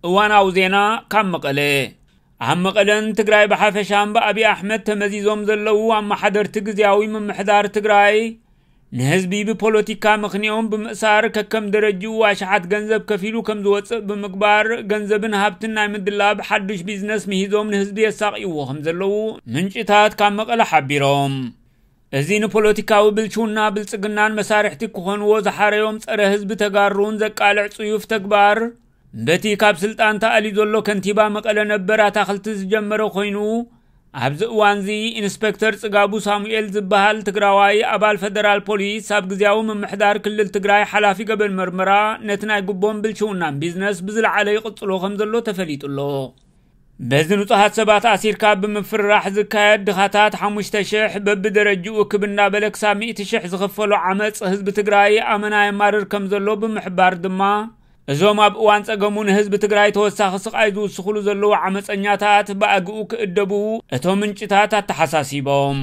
እዋናዊ ዜና ካብ መቐለ። ኣብ መቐለን ትግራይ ብሓፈሻን ብኣብይ ኣሕመድ ተመዚዞም ዘለዉ ኣመሓደርቲ ግዝያዊ ምምሕዳር ትግራይ ንህዝቢ ብፖለቲካ ምኽንዮም ብምእሳር ከከም ደረጅኡ ኣሽሓት ገንዘብ ከፊሉ ከም ዝወፅእ ብምግባር ገንዘብን ሃብትን ናይ ምድላብ ሓዱሽ ቢዝነስ ምሂዞም ንህዝቢ የሳቕይዎ ከም ዘለዉ ምንጭታት ካብ መቐለ ሓቢሮም። እዚ ንፖለቲካዊ ብልሽውና ብልጽግናን መሳርሕቲ ክኾንዎ ዝሓረዮም ጸረ ህዝቢ ተጋሩን ዘቃልዕ ጽዩፍ ተግባር በቲ ካብ ስልጣን ተኣልዩ ዘሎ ከንቲባ መቐለ ነበር ኣታኽልቲ ዝጀመረ ኮይኑ፣ ኣብዚ እዋንዚ ኢንስፔክተር ጽጋቡ ሳሙኤል ዝበሃል ትግራዋይ ኣባል ፈደራል ፖሊስ ኣብ ግዝያዊ ምምሕዳር ክልል ትግራይ ሓላፊ ገበን መርመራ ነቲ ናይ ጉቦን ብልሽውናን ቢዝነስ ብዝለዓለ ይቕጽሎ ከም ዘሎ ተፈሊጡ ኣሎ። በዚ ንጹሃት ሰባት ኣሲርካ ብምፍርራሕ ዝካየድ ድኻታት ሓሙሽተ ሽሕ በብደረጅኡ ክብ እናበለ ክሳብ ሚእቲ ሽሕ ዝኽፈሎ ዓመጽ ህዝቢ ትግራይ ኣመና የማርር ከም ዘሎ ብምሕባር ድማ፣ እዞም ኣብ እዋን ጸገሙ ንህዝቢ ትግራይ ተወሳኺ ስቓይ ዝውስኽሉ ዘለዉ ዓመጸኛታት ብኣግኡ ክእደቡ እቶም ምንጭታት ኣተሓሳሲቦም።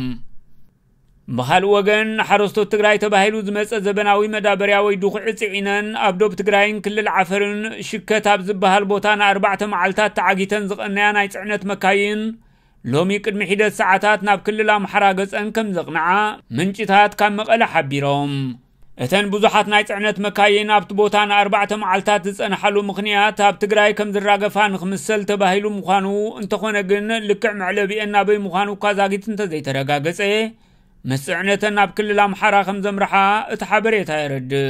ብኻልእ ወገን፣ ንሓረስቶት ትግራይ ተባሂሉ ዝመጸ ዘበናዊ መዳበርያ ወይ ድኹዒ ጽዒነን ኣብ ዶብ ትግራይን ክልል ዓፈርን ሽከት ኣብ ዝበሃል ቦታ ንኣርባዕተ መዓልታት ተዓጊተን ዝቐነያ ናይ ጽዕነት መካይን፣ ሎሚ ቅድሚ ሒደት ሰዓታት ናብ ክልል ኣምሓራ ገጸን ከም ዘቕንዓ ምንጭታት ካብ መቐለ ሓቢሮም። እተን ብዙሓት ናይ ጽዕነት መካይን ኣብቲ ቦታ ንኣርባዕተ መዓልታት ዝጸንሓሉ ምኽንያት ኣብ ትግራይ ከም ዝራገፋ ንኽምሰል ተባሂሉ ምዃኑ፣ እንተኾነ ግን ልክዕ መዕለቢኤን ናበይ ምዃኑ እኳ ዛጊት እንተዘይተረጋገጸ፣ ምስ ጽዕነተን ናብ ክልል ኣምሓራ ከም ዘምርሓ እቲ ሓበሬታ የረድእ።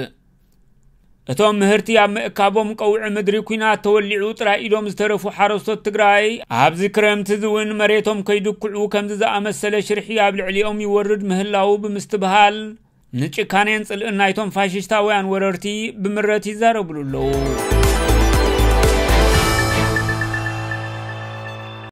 እቶም ምህርቲ ኣብ ምእካቦም ቀውዒ ምድሪ ኲናት ተወሊዑ ጥራይ ኢሎም ዝተረፉ ሓረስቶት ትግራይ፣ ኣብዚ ክረምቲ እዚ እውን መሬቶም ከይድኩዑ ከምዚ ዝኣመሰለ ሽርሒ ኣብ ልዕሊኦም ይወርድ ምህላዉ ብምስትብሃል፣ ንጭካኔን ጽልእን ናይቶም ፋሽስታውያን ወረርቲ ብምረት ይዛረብሉ ኣለዉ።